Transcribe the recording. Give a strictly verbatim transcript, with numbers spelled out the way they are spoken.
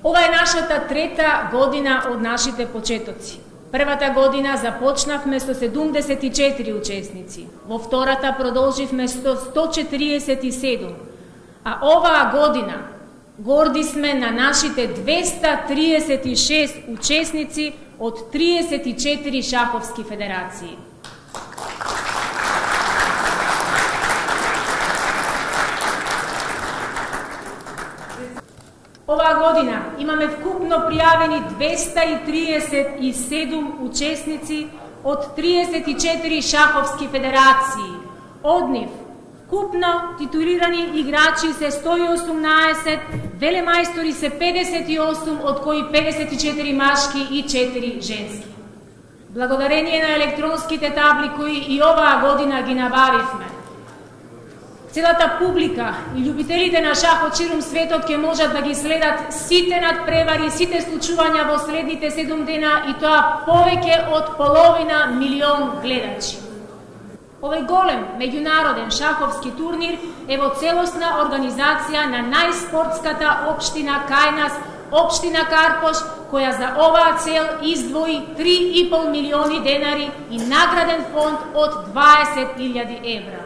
Ова е нашата трета година од нашите почетоци. Првата година започнавме со седумдесет и четири учесници, во втората продолживме со сто четиридесет и седум, а оваа година горди сме на нашите двеста триесет и шест учесници од триесет и четири шаховски федерации. Оваа година имаме вкупно пријавени двеста и триесет и седум учесници од триесет и четири шаховски федерации. Од нив вкупно титулирани играчи се сто и осумнаесет, велемајстори се педесет и осум, од кои педесет и четири машки и четири женски. Благодарение на електронските табли кои и оваа година ги набавивме, целата публика и љубителите на шах од ширум светот ќе можат да ги следат сите надпревари, сите случувања во следните седум дена, и тоа повеќе од половина милион гледачи. Овој голем меѓународен шаховски турнир е во целосна организација на најспортската општина кај нас, општина Карпош, која за оваа цел издвои три и пол милиони денари и награден фонд од дваесет илјади евра.